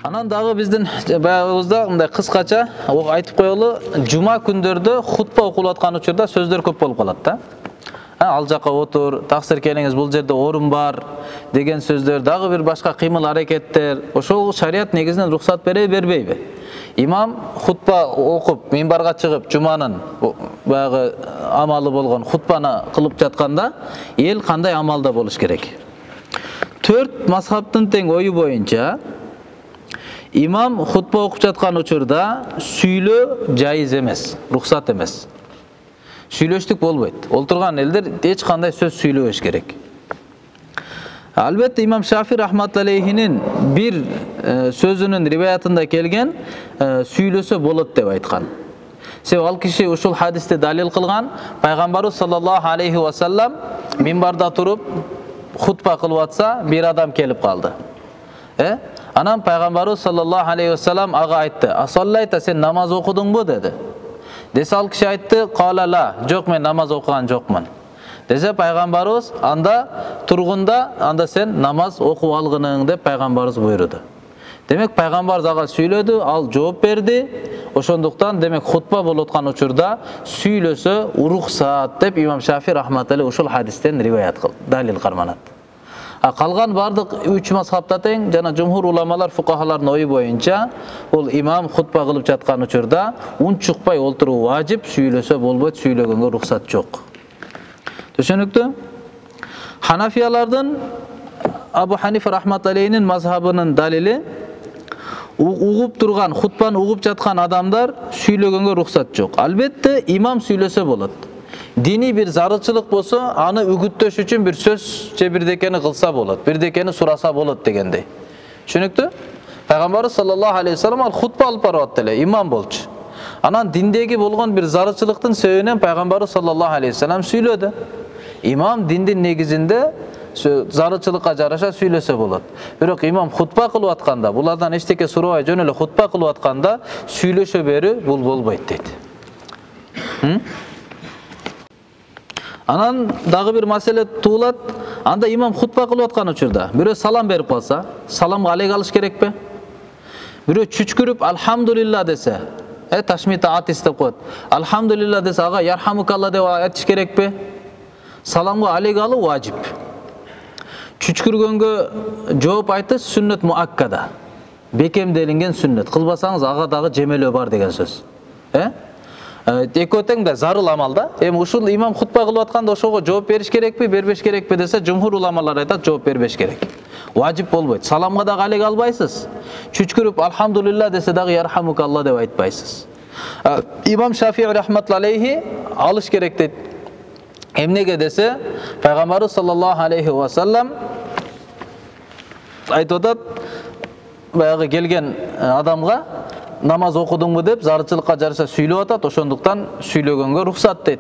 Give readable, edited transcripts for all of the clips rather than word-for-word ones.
Анан дагы биздин баягыбызда мындай кыскача айтып коелу, жума күндөрдө хутба окулуп аткан учурда сөздөр көп болуп калат да. Ал жака отур, таксир келиңиз, бул жерде орун бар деген сөздөр, дагы бир башка кыймыл аракеттер. Ошол шарият негизинен рухсат бербейби? Имам хутба окуп, минбарга чыгып, жуманын баягы амалы болгон хутбаны кылып жатканда эл кандай амалда болуш керек? 4 мазхабтын тең ою боюнча имам хутба окуп жаткан учурда сүйлөө жайыз эмес, рухсат эмес. Сүйлөштүк болбойт. Олтурган элдер эч кандай сөз сүйлөбөш керек. Албетте имам Шафи рахматуллахинин бир сөзүнүн риваятында келген сүйлөсө болот деп айткан. Себеби ал киши ушул хадисти далил кылган, пайгамбарыбыз саллаллаху алейхи ва саллам минбарда туруп хутба кылып атса, бир адам келип калды. Анан пайгамбарыбыз саллаллаху алейхи ва саллам ага айтты: "Асаллайта, сен намаз окудуңбу?" деди. Десе ал киши айтты: "Кала ла, жок, мен намаз окуган жокмун." Десе пайгамбарыбыз: "Анда тургунда, анда сен намаз окуп алгының" деп пайгамбарыбыз буйруду. Демек пайгамбарыбыз ага сүйлөдү, ал жооп берди. Ошондуктан демек хутба болуп аткан учурда сүйлөсө уруксат деп имам Шафи рахматуллахи ушул хадистен риваят кылды, далил карманат. Калган бардык 3 мазхабта тең жана жумхур уламалар, фукахалардын ою боюнча бул имам хутба кылып жаткан учурда унчукпай олтуруу важип, сүйлөсө болбойт, сүйлөгөнгө рухсат жок. Түшүнүктүү? Ханафиялардын Абу Ханифа рахматуллахинин мазхабынын далили угуп турган, хутбаны угуп жаткан адамдар сүйлөгөнгө рухсат жок. Албетте имам сүйлөсө болот. Дини бир зарылчылык болсо, аны үгүттөш үчүн бир сөз же бирдекени кылса болот, бирдекени сураса болот дегендей. Түшүнүктүү? Пайгамбарыбыз саллаллаху алейхи ва саллам ал хутба алып барып атты, имам болчу. Анан диндеги болгон бир зарылчылыктын себебинен пайгамбарыбыз саллаллаху алейхи ва саллам сүйлөдү. Имам диндин негизинде зарылчылыкка жараша сүйлөсө болот. Бирок имам хутба кылып атканда, булардан эчтеке сурабай жөн эле хутба кылып атканда сүйлөшө берүү бул болбойт дейт. Анан дагы бир маселе туулат. Анда имам хутба кылып аткан учурда бирөө салам берип калса, саламга алек алыш керекпи? Бирөө чүчкүрүп алхамдулилла десе, ташмита атис деп коет. Алхамдулилла десе, ага ярхамукалла деп айтыш керекпи? Саламга алек алуу важип. Чүчкүргөнгө жооп айтыш сүннөт муаккада. Бекемделинген сүннөт. Кылбасаңыз ага дагы жемелөө бар деген сөз. Экөө тең да зарыл амал да. Эми ушул имам хутба кылып атканда ошого жооп бериш керекпи, бербеш керекпи десе, жумхур уламалар айтат, жооп бербеш керек. Важип болбойт. Саламга дагы алек албайсыз. Чүчкүрүп алхамдулилла десе дагы ярхамукалла деп айтпайсыз. Имам Шафи рахматуллахи алыш керек дейт. Эмнеге десе, пайгамбарыбыз саллаллаху алейхи ва саллам айтып атат, баягы келген адамга намаз окудуңбу деп зарылчылыкка жараша сүйлөп атат, ошондуктан сүйлөгөнгө рухсат дейт.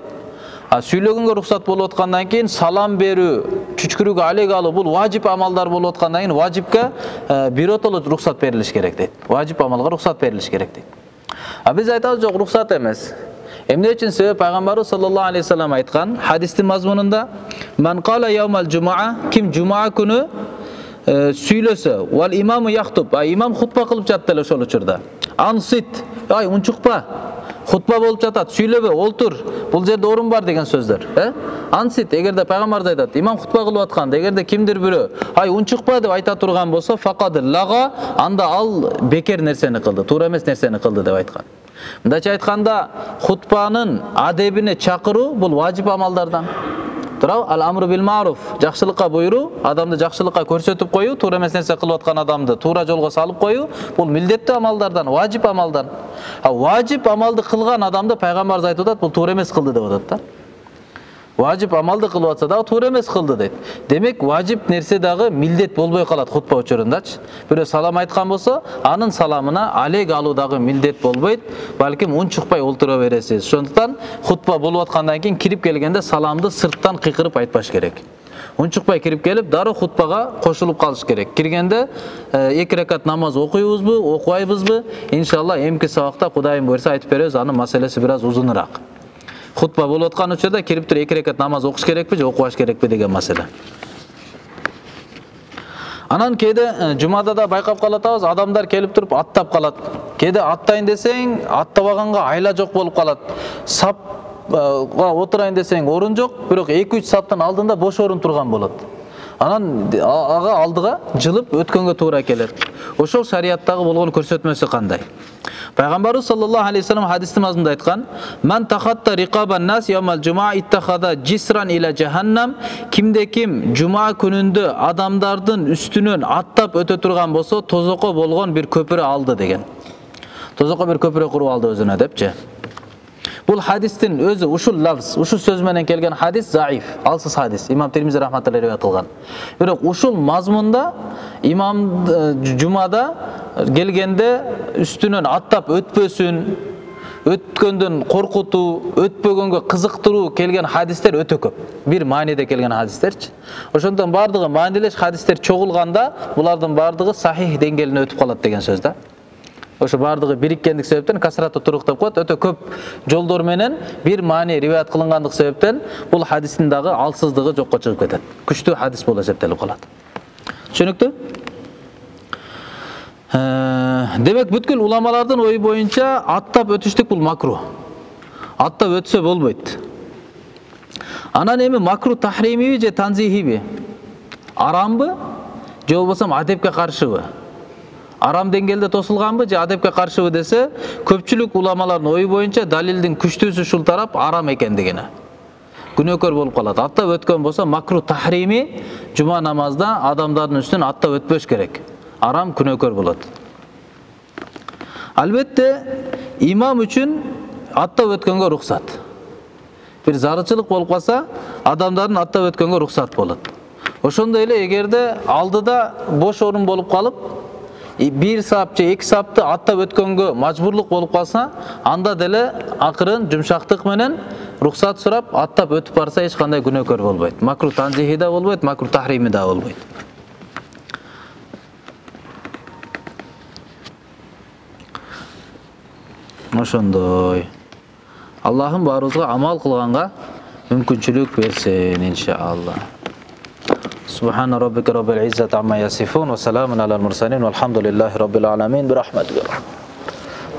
Сүйлөгөнгө рухсат болуп аткандан кийин салам берүү, чүчкүрүүгө алек алуу бул важип амалдар болуп аткандан кийин важипке биротоло рухсат берилиш керек дейт. Важип амалга рухсат берилиш керек дейт. Биз айтабыз жок, рухсат эмес. Эмне үчүн? Себеби пайгамбарыбыз саллаллаху алейхи ва саллам айткан хадистин мазмунунда: "Ман кала яумал жумаа", ким жума күнү сүйлөсө, "Вал имаму яхтуб", имам хутба кылып жатты эле ошол учурда. "Ансит", унчукпа, хутба болуп жатат, сүйлөбө, олтур, бул жерде орун бар деген сөздөр. Ансит, эгерде пайгамбарыбыз айтат, имам хутба кылып атканда эгерде кимдир бирөө унчукпа деп айта турган болсо, факад лага, анда ал бекер нерсени кылды, туура эмес нерсени кылды деп айткан. Мындайча айтканда, хутбанын адебине чакыруу бул важип амалдардан. Туурабы? Ал-амру бил маруф, жакшылыкка буйруу, адамды жакшылыкка көрсөтүп коюу, туура эмес нерсе кылып аткан адамды туура жолго салып коюу, бул милдеттүү амалдардан, важип амалдан. Важип амалды кылган адамды пайгамбарыбыз айтып атат, бул туура эмес кылды деп атат да. Важип амалды кылып атса дагы туура эмес кылды дейт. Демек важип нерсе дагы милдет болбой калат хутба учурундачы. Бирөө салам айткан болсо, анын саламына алек алуу дагы милдет болбойт, балким унчукпай олтура бересиз. Ошондуктан хутба болуп аткандан кийин кирип келгенде саламды сырттан кыйкырып айтпаш керек. Унчукпай кирип келип, дароо хутбага кошулуп калыш керек. Киргенде 2 ракат намаз окуйбузбу, окубайбызбы? Иншалла эмки сабакта Кудайым буйрса айтып беребиз, анын маселеси бир аз узунураак. Хутба болуп аткан учурда кирип туруп 2 ракат намаз окуш керекпи же окубаш керекпи деген маселе. Анан кээде жумада да байкап калатабыз, адамдар келип туруп аттап калат. Кээде аттайын десең, аттабаганга айла жок болуп калат. Сапга отурайын десең, орун жок, бирок 2-3 саптын алдында бош орун турган болот. Анан ага алдыга жылып өткөнгө туура келет. Ошол шариаттагы болгон көрсөтмөсү кандай? Пайгамбарыбыз саллаллаху алейхи вассалам хадистин азында айткан: "Ман тахатта риqaban нас ямал жума иттахада жисран ила жаханнам", кимде ким жума күнүндө адамдардын үстүнөн аттап өтө турган болсо, тозокко болгон бир көпүрө алды деген. Тозокко бир көпүрө куруп алды өзүнө депчи. Бул хадистин өзү ушул лавз, ушул сөз менен келген хадис заиф, алсыз хадис. Имам Тирмизи рахматуллахи риваят кылган. Бирок ушул мазмунда имам жумада келгенде үстүнөн аттап өтпөсүн, өткөндөн коркутуу, өтпөгөнгө кызыктыруу келген хадистер өтө көп. Бир мааниде келген хадистерчи. Ошондон бардыгы маанилеш хадистер чогулганда, булардын бардыгы сахих деңгээлине өтүп калат деген сөз да. Ошо бардыгы бириккендик себептен касрату турук деп коет. Өтө көп жолдор менен бир маани риваят кылынгандык себептен бул хадистин дагы алсыздыгы жокко чыгып кетет. Күчтүү хадис болуп эсептелип калат. Түшүнүктүү? Демек бүткүл уламалардын ою боюнча аттап өтүштүк бул макруh. Аттап өтсө болбойт. Анан эми макруh тахримиби же танзихиби? Арамбы же болбосо адепке каршыбы? Арам деңгээлде тосулганбы же адепке каршыбы десе, көпчүлүк уламалардын ою боюнча далилдин күчтүүсү ушул тарап арам экендигине. Күнөөкөр болуп калат. Аттап өткөн болсо макруh тахрими жума намазда адамдардын үстүнөн аттап өтпөш керек. Арам күнөөкөр болот. Албетте имам үчүн аттап өткөнгө рухсат. Бир зарылчылык болуп калса, адамдардын аттап өткөнгө рухсат болот. Ошондой эле эгерде алдыда бош орун болуп калып, бир сап же 2 сапты аттап өткөнгө мажбурлук болуп калса, анда деле акырын жумшактык менен рухсат сурап аттап өтүп барса эч кандай күнөөкөр болбойт. Макруh танзихи да болбойт, макруh тахрими да болбойт. Ошондой. Аллахым баарыбызга амал кылганга мүмкүнчүлүк берсин, иншаалла. سبحان ربك رب العزة عما يصفون وسلام على المرسلين والحمد لله رب العالمين برحمتك.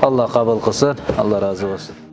الله قبول قلسın, Allah razı olsun.